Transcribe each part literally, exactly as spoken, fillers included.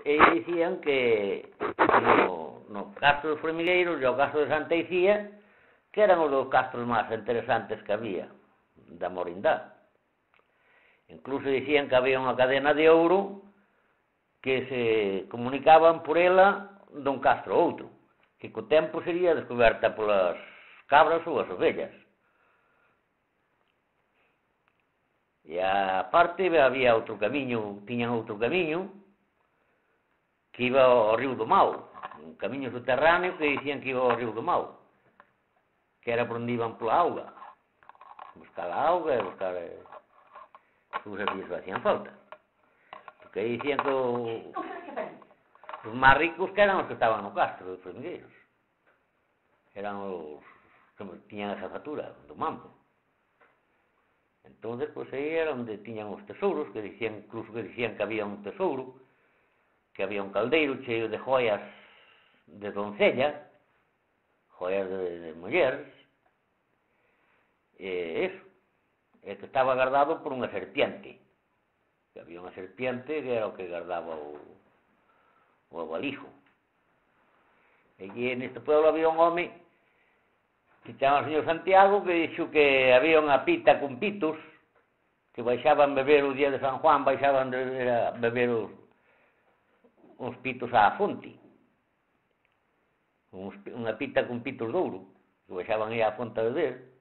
e dicían que no, no castro dos Formigueiros e o castro de Santa Icía, que eran os dos castros máis interesantes que había da Morindá. Incluso dicían que había unha cadena de ouro que se comunicaban por ela dun castro a outro, que co tempo sería descoberta polas cabras ou as ovellas. E aparte había outro camiño, tiñan outro camiño que iba ao río do Mao, un camiño subterráneo que dicían que iba ao río do Mao, que era por onde iban pola auga, buscar a auga e buscar eh, os servicios que hacían falta, porque aí dicían que o, os máis ricos que eran os que estaban no castro dos Formigueiros, eran os que tiñan esa fatura do mambo. Entón, pois, aí era onde tiñan os tesouros, que dicían, incluso que dicían que había un tesouro, que había un caldeiro cheio de joias de doncella, joias de, de mulleres, e eso, e que estaba guardado por unha serpiente, que había unha serpiente que era o que guardaba o, o abalijo. E aquí neste pueblo había un home que chama o señor Santiago, que dixo que había unha pita con pitos que baixaban beber o día de San Juan, baixaban de a beber os, uns pitos á fonte, uns, unha pita con pitos de ouro, que baixaban aí á fonte a beber,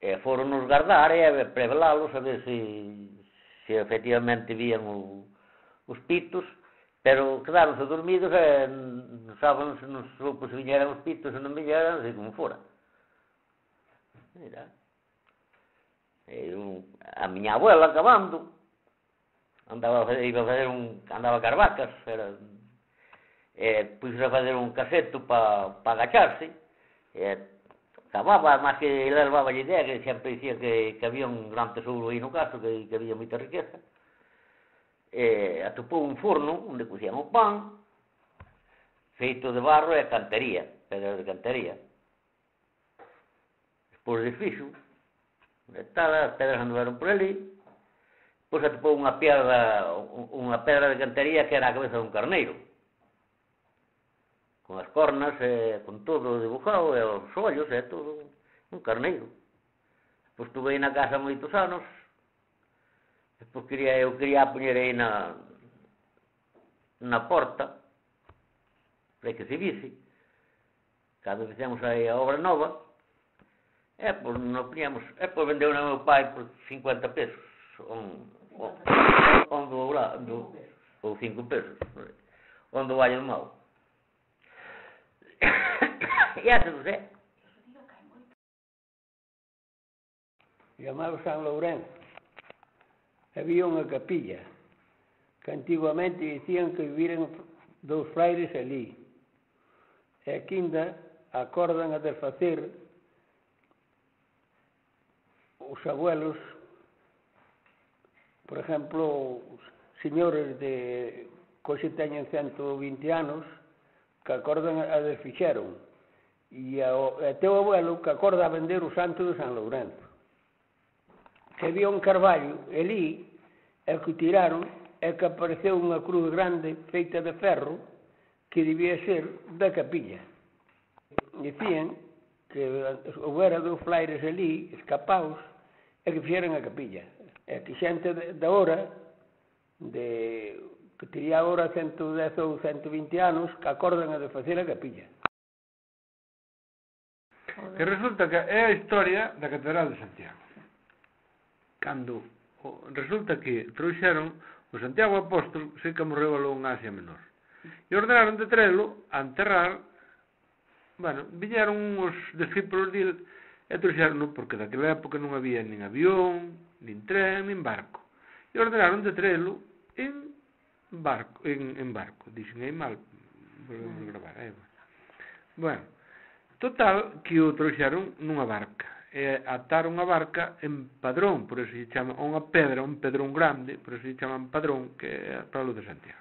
e foron nos guardar e a prevelalos a ver se, se efectivamente vían o, os pitos, pero quedaronse dormidos e non saben se non soupo se viñeran os pitos ou non viñeran, así como fora. Mira, eu, a miña abuela acabando andaba a fazer, iba a fazer un, andaba a carvacas, era, e puxo a fazer un caseto para pa agacharse, e acababa, máis que ele levaba a idea, que sempre dicía que, que había un gran tesouro aí no caso, que, que había moita riqueza. E atopou un forno onde cocían o pan, feito de barro e cantería, pedras de cantería. Despois desfixo, tal, as pedras andaron por ali, depois atopou unha pedra, unha pedra de cantería que era a cabeza dun carneiro, con as cornas, e con todo dibujado, e os ollos, e todo, un carneiro. Depois estuve aí na casa moitos anos. Depois quería, eu quería poñer aí na, na porta, para que se vise, cando fizemos aí a obra nova, e pois non poñemos, e pois vendeu a meu pai por cincuenta pesos, un, un, un do lado, ou cinco pesos, un do Valle do Mau. E asa non sei. Chamado San Lourenzo. Había unha capilla que antiguamente dicían que viviran dous fraires ali, e aquí ainda acordan a desfacer os abuelos, por exemplo, os señores de que hoxe teñen ciento vinte anos, que acordan a desfixeron, e o teu abuelo que acorda a vender o santo de San Lourenzo, que había un carballo ali, e que o tiraron, e que apareceu unha cruz grande feita de ferro que debía ser da capilla. Dicían que houbera dous fraires ali, escapaos, e que fixeran a capilla. E que xente da hora, de, que tería agora ciento dez ou ciento vinte anos, que acordan a de facer a capilla. Que resulta que é a historia da Catedral de Santiago. Cando resulta que trouxeron o Santiago Apóstol, sei que morreu aló en Asia Menor, e ordenaron de trelo a enterrar. Bueno, viñeron os discípulos dele e trouxeron, porque daquela época non había nin avión, nin tren, nin barco, e ordenaron de trelo en barco, en, en barco, dixen aí mal, volvemos a gravar, aí, bueno, total, que o trouxeron nunha barca, e ataron a barca en Padrón, por eso se chama, unha pedra, un pedrón grande, por eso se chaman Padrón, que é para o de Santiago.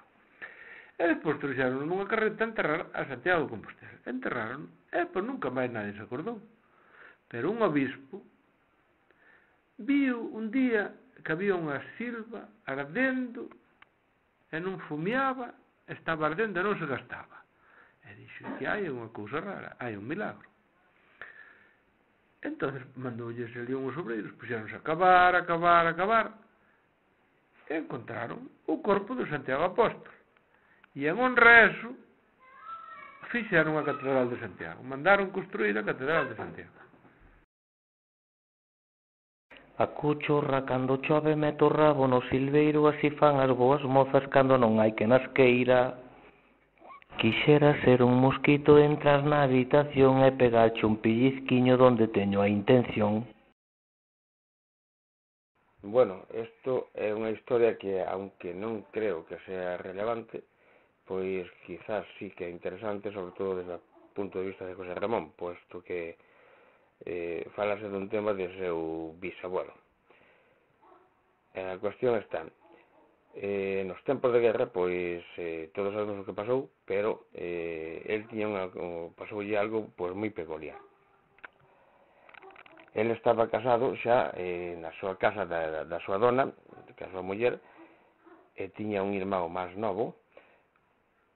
E despois trouxeron nunha carreta a enterrar a Santiago de Compostela. Enterraron, e pois nunca máis nadie se acordou. Pero un obispo viu un día que había unha silva ardendo e non fumeaba, estaba ardendo e non se gastaba. E dixo que hai unha cousa rara, hai un milagro. Entón mandoulles ali unhos obreiros, puxeronse a cavar, a cavar, a cavar, e encontraron o corpo de Santiago Apóstol. E en honra a eso, fixeron a Catedral de Santiago, mandaron construir a Catedral de Santiago. A cuchorra cando chove mete o rabo no silveiro, así fan as boas mozas cando non hai que nas queira. Quixera ser un mosquito, entras na habitación e pegarche un pellizquiño donde teño a intención. Bueno, isto é unha historia que, aunque non creo que sea relevante, pois quizás sí que é interesante, sobre todo desde o punto de vista de José Ramón, posto que eh, falase dun tema de seu bisabuelo. A cuestión está, eh, nos tempos de guerra, pois eh, todos sabemos o que pasou, pero eh, el tiña unha, pasoulle algo pois moi peculiar. El estaba casado xa eh, na súa casa da, da súa dona, que a súa muller, e tiña un irmão máis novo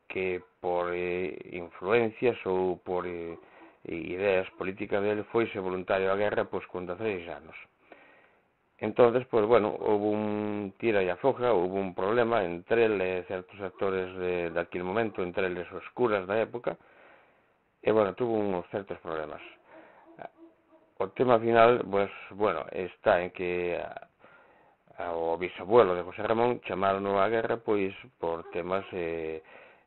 que por eh, influencias ou por eh, ideas políticas dele foise voluntario á guerra pois con dezaseis anos. Entonces, pois bueno, houve un tira e afoga, houve un problema entre ele e certos actores de, de aquel momento, entre eles os curas da época, e bueno, tuvo uns certos problemas. O tema final, pues, bueno, está en que a, a, o bisabuelo de José Ramón chamaron á guerra, pois, por temas eh,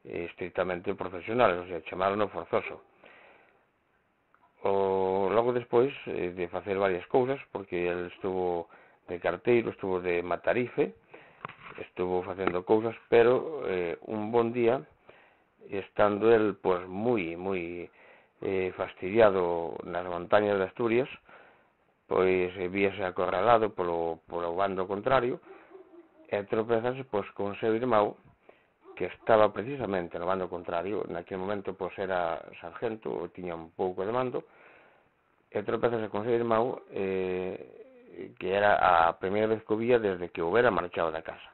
estrictamente profesionales, o sea, chamaron forzoso. O, logo despois eh, de facer varias cousas, porque ele estuvo de carteiro, estuvo de matarife, estuvo facendo cousas, pero eh, un bon día, estando el, pois, moi, moi eh, fastidiado nas montañas de Asturias, pois eh, víase acorralado polo, polo bando contrario, e tropezase pois con seu irmão, que estaba precisamente no bando contrario, naquele momento pois era sargento, ou tiña un pouco de mando, e tropezase con seu irmão, eh, que era a primeira vez que o vía desde que houbera marchado da casa.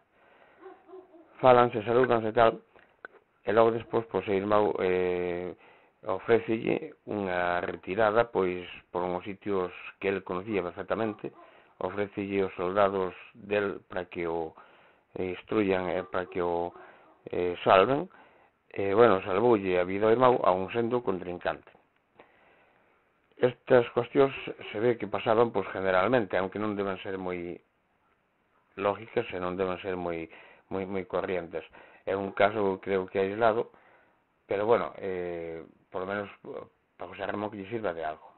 Fálanse, salúdanse e tal, e logo despois, pois, seu irmão eh, ofrécelle unha retirada, pois, por uns sitios que el conocía perfectamente, ofrécelle os soldados del para que o eh, instruyan e para que o eh, salven, e, bueno, salvoulle a vida ao irmão a un sendo contrincante. Estas cuestións se ve que pasaban, pois, generalmente, aunque non deben ser moi lógicas e non deben ser moi, moi, moi corrientes. É un caso, creo que aislado, pero, bueno, eh, por lo menos para José Ramón que lle sirva de algo.